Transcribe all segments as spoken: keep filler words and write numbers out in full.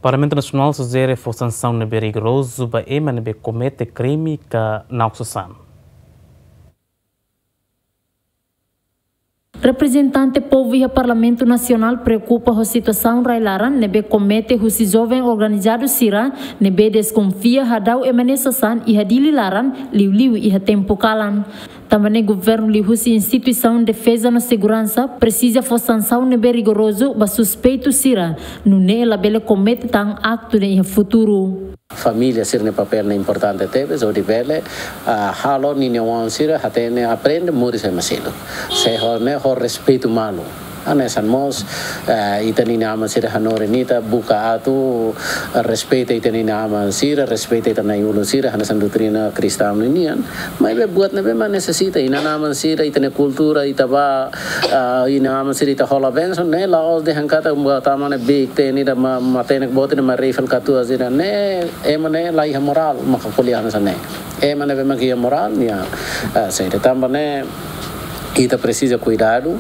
Parlamentu Nasionál sujere fó sansaun ne'ebé rigorozu ba ema ne'ebé komete krime ka na'ok-sasán. Reprezentante povu iha Parlamentu Nasionál preokupa ho situasaun rai-laran ne'ebé komete husi joven organizadu sira ne'ebé deskonfia hadau ema nia sasán iha Dili laran, liuliu iha tempu kalan. Tanba ne'e governu liuhusi instituisaun defeza no seguransa presiza fó sansaun ne'ebé rigorozu ba suspeitu sira, nune'e labele komete tan aktu ne'e iha futuru. Família sira-nia papél ne'e importante tebes, hodi bele, ah, halo ninia oan sira hatene aprende moris ema seluk. Se ho ne'e ho respeitu malu. Hanesan mós, eh, ita-nia aman sira hanorin ita buka atu, eh, respeita ita-nia aman sira, respeita ita na'i-ulun sira, hanesan doutrina kristaun ninian. Maibé buat ne'ebé mak nesesita, inan-aman sira, ita-nia kultura, ita bá, ah, inan-aman sira, ita hola bensaun, ne'e la'ós dehan katak buat aman ne'e bik te ni da ma-, matenek boot ne'e mak rifle katuas sira, ne'e, ema ne'e la iha morál, maka ko'alia hanesan ne'e. Ema ne'ebé mak iha morál, nia, ah, saida tanba ne'e, ita presiza kuidadu,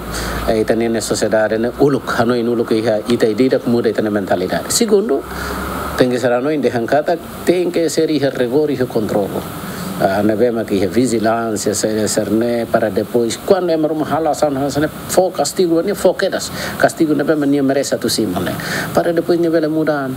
eh, ita-nia sosiedade ne'e uluk, hanoin uluk iha ita ida-idak muda ita-nia mentalidade. Segundu, tenke ser hanoin dehan katak, tenke ser iha rigór, iha kontrolu. Ah, ne'ebé mak iha vijilánsia, se, sira-ne'e, para depois, kuandu ema ruma halo asaun hanesan ne'e, fó kastigu, nia fó kedas. Kastigu ne'ebé mak nia merese atu simu ne'e. Para depois nia bele muda.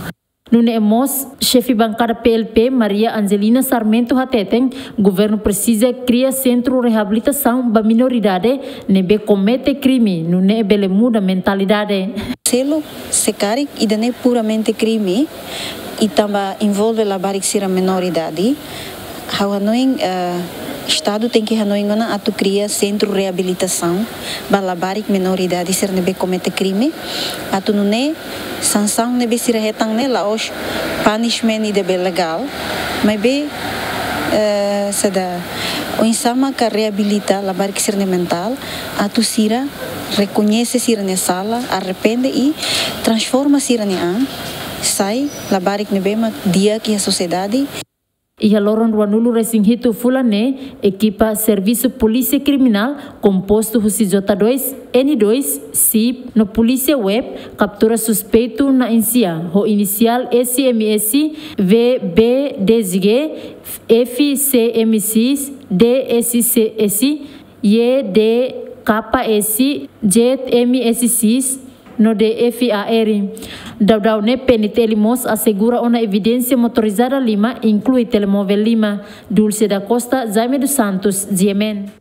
Nune'e mós, xefe bankada P L P, Maria Angelina Sarmento hateten, governu presiza kria sentru reabilitasaun ba minoridade ne'ebé komete krime, nune'e bele muda mentalidade. Seluk, se karik ida-ne'e puramente krime, i tanba envolve labarik sira menor idade, ha'u hanoin, eh, Estadu tenke hanoin ona atu kria sentru reabilitasaun ba labarik menor idade sira ne'ebé komete krime, atu nune'e sansaun ne'ebé sira hetan ne'e la'ós punishment ida be legál, maibé, eh, saida, oinsá maka reabilita labarik sira-nia mentál, atu sira rekoñese sira-nia sala, arrepende i transforma sira-nia an, sai labarik ne'ebé mak di'ak iha sosiedade. Iha loron ruanulu-resin-hitu fulan ne'e, ekipa Servisu Polísia Kriminál, kompostu husi J dois, N dois, sip, no Polísia Web, kaptura suspeitu na'in-sia, ho inisiál S M S, V B D G, F C M seis, D S C S, Y D K S, Z M S seis, no D F A R. Daudaun ne'e P N T L mós asegura ona evidénsia motorizada lima, inklui telemóvel lima. Dulce da Costa, Jaime dos Santos, G M N.